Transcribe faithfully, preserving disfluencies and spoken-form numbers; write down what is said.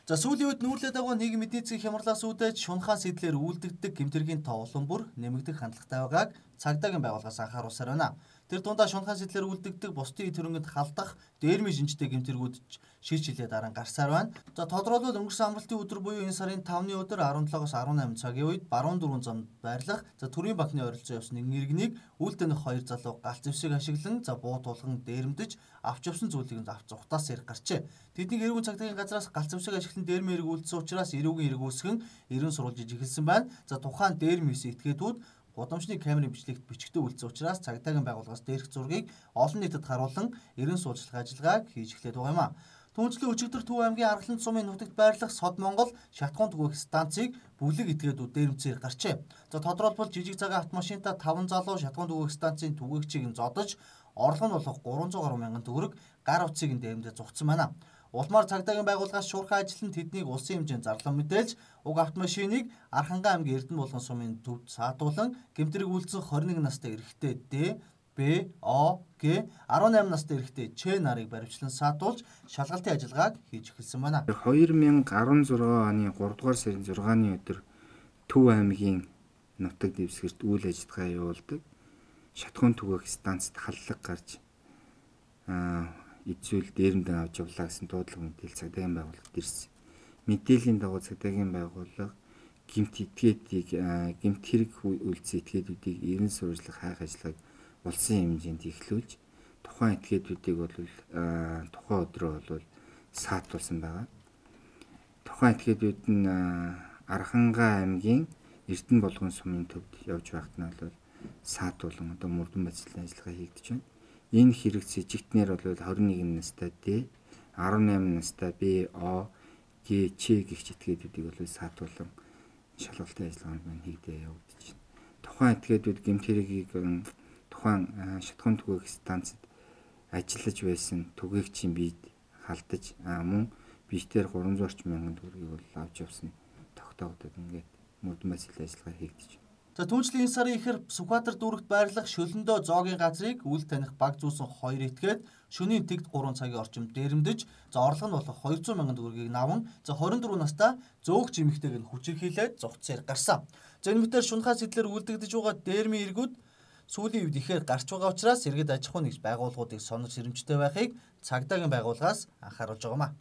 За сүүлийн үед нүүрлээд байгаа нийгмийн эдийн засгийн хямралаас үүдэж шунхаа сэтлэр үйлдэгдэг гэмтэргийн тоо улам бүр нэмэгдэх хандлагатай байгааг цагдаагийн байгууллагаас анхааруулсаар байна. Тэр дундаа шунхаа сэтлэр үйлдэгдэг бусдын эд хөрөнгөнд халдах дээрмийн шинжтэй гэмтэргүүд шийдэж хилээд дараа гарсаар байна. За тодорхойлбол өнгөрсөн амралтын өдөр буюу энэ сарын тавны өдөр арван долоогоос арван найман цагийн үед баруун дөрвөн замд байрлах за төрийн банкны ойролцоо явсан нэгэн иргэнийг үл тэнэх хоёр залуу галт зэвсэг ашиглан за буу тулган дээрэмдэж авч явсан зүйлийг авч зугатаас ирэх гарчээ. Тэднийг эрүүгийн цагдаагийн газраас галт зэвсэг ашиглан дээрмийн эрг үйлдсэн учраас эрүүгийн эрг үүсгэн эрен сурвалж эхэлсэн байна. За тухайн дээрмийн этгээдүүд гудамжны камерын бичлэгт бичгтээ үлдсэн учраас цагдаагийн байгууллагаас дээрх зургийг олон нийтэд харуулan эрен суулжлах ажиллагааг хийж эхлэв байгаа юм а. Түүнчлэн өчигдөр Төв аймгийн Аргалан сумын нутагт байрлах Сод Монгол шатхуун түгээх станцыг бүлэг этгээдүүд дээрэмцээр гарчээ. За тодорхойлбол жижиг цагаан автомашинтай таван залуу шатхуун түгээх станцын түгээгчийг нь зодож орлого нь болох гурван зуун гаруй мянган төгрөг гар утсыг нь дээрэмдээ зугтсан байна. Улмаар цагдаагийн байгууллагаас шуурхай ажиллан тэднийг улсын хэмжээнд зарлан мэдээлж уг автомашиныг Архангай аймгийн Эрдэнэ булган сумын төвд саатуулан гэмтрэг үйлдсэн хорин нэг настай эрэгтэй Д, Б, О, Г, арван найман настай эрэгтэй Ч нарыг баривчлан саатуулж шалгалтын ажиллагааг хийж эхэлсэн байна. хоёр мянга арван зургаан оны гурав дугаар сарын зургааны өдөр Төв аймгийн нутаг дэвсгэрт үйл ажиллагаа явуулдаг. Шатхуун түгээх станцд халлага гарч аа эцүүл дээрэмдэн авч явлаа гэсэн дуудлага мэдээлэл цагдаагийн байгууллагад ирсэн. Мэдээллийн дагуу цагдаагийн байгууллага гэмт этгээдийг гэмт хэрэг үйлдсэн этгээдүүдийг эрен сурвалжлах хайх ажиллагааг улсын хэмжээнд эхлүүлж тухайн этгээдүүдийг бол тухайн өдрөө бол саатуулсан байгаа. Тухайн этгээдүүд нь Архангай аймгийн Эрдэнэ булган сумын төвд явж байхад нь бол саатуулан одоо мөрдөн бацлын ажиллагаа хийгдэж байна. Энэ хэрэг сэжигтнэр бол хорин нэгэн настай Д, арван найман настай Б, О, Г, Ч гэх этгээдүүдийг бол саатуулан шалгалтын ажиллагаанд маань хийгдээ явагдаж байна. Тухайн этгээдүүд гэмт хэргийг тухайн шатхуун түгээх станцад ажиллаж байсан түгээгчийн биед халдаж мөн биетээр гурван зуун орчим мянган төгрөгийг бол авч явсан тогтоогдод ингээд мөрдөн бацлын ажиллагаа хийгдэж байна. За түүнчлэн энэ сарын ихэр Сүхбаатар дүүрэгт байрлах Шөлөндөө зоогийн газрыг үл таних баг зүүсэн хоёр этгээд шөнийн тэгт гурван цагийн орчимд дээрэмдэж за орлого нь болох хоёр зуун мянган төгрөгийг наван за хорин дөрвөн настай зөөгч эмэгтэйг нь хүчирхийлээд зугтсаар гарсан. За энэ мэтээр шунхаа сэтлэр үлдэгдэж байгаа дээрмийн эргүүд сүүлийн үед ихээр гарч байгаа учраас иргэд аж ахуйн нэгж байгууллагуудыг сонор сэрэмжтэй байхыг цагдаагийн байгууллагаас анхааруулж байгаа юм а.